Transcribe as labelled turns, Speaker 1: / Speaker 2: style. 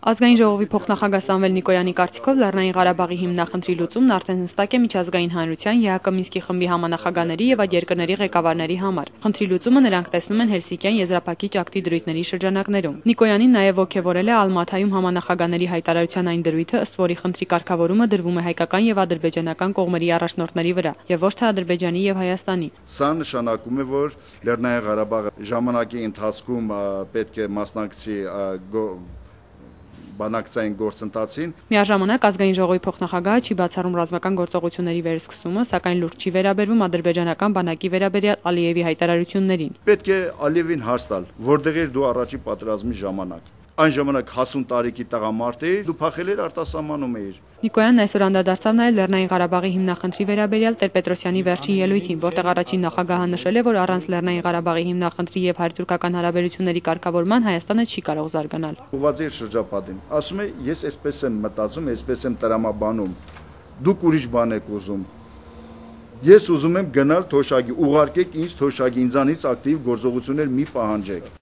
Speaker 1: Ազգային ժողովի փոխնախագահ Սամվել Նիկոյանի կարծիքով Լեռնային Ղարաբաղի հիմնախնդրի լուծումն արդեն հստակ է միջազգային հանրության, ԵԱՀԿ Մինսկի խմբի համանախագահների եւ այդ երկրների ղեկավարների համար։ Խնդրի լուծումը նրանք տեսնում են Հելսինկյան եզրափակիչ ակտի դրույթների շրջանակներում։ Նիկոյանին նաեւ ոգևորել է Ալմաթայում համանախագահների հայտարարության այն դրույթը, ըստ որի խնդրի կարգավորումը դրվում է հայկական եւ ադրբեջանական կողմերի առաջնորդների վրա եւ ոչ թե Ադրբեջանի եւ Հայաստանի։
Speaker 2: Սա նշանակում է, որ Լեռնային Ղարաբաղը ժամանակի ընթացքում պետք է մասնակցի բանակցային գործընթացին։
Speaker 1: Միաժամանակ ազգային ժողովի փոխնախագահը չի բացառում ռազմական գործողությունների վերսկսումը, սակայն լուրջ չի վերաբերվում ադրբեջանական բանակի վերաբերյալ Ալիևի հայտարարություններին։
Speaker 2: Պետք է Ալիևին հարց տալ, որտեղ էր դու առաջի պատերազմի ժամանակ։ Այն ժամանակ 50 տարեկի տղամարդ էիր, դու փախել էր արտասահմանում էիր։
Speaker 1: Նիկոյանն այսօր անդրադարձավ նաև Լեռնային Ղարաբաղի հիմնախնդրի վերաբերյալ Տեր-Պետրոսյանի վերջին ելույթին, որտեղ առաջին նախագահը նշել է, որ առանց Լեռնային Ղարաբաղի հիմնախնդրի եւ հայ-թուրքական հարաբերությունների կարգավորման Հայաստանը չի կարող զարգանալ։
Speaker 2: Ուղղված էր շրջապատին։ Ասում է, ես այսպես եմ մտածում, այսպես եմ տրամաբանում։ Դուք ուրիշ բան եք ուզում։ Ես ուզում եմ գնալ թոշակի, ուղարկեք ինձ թոշակի, ինձանից ակտիվ գործողություններ մի պահանջեք։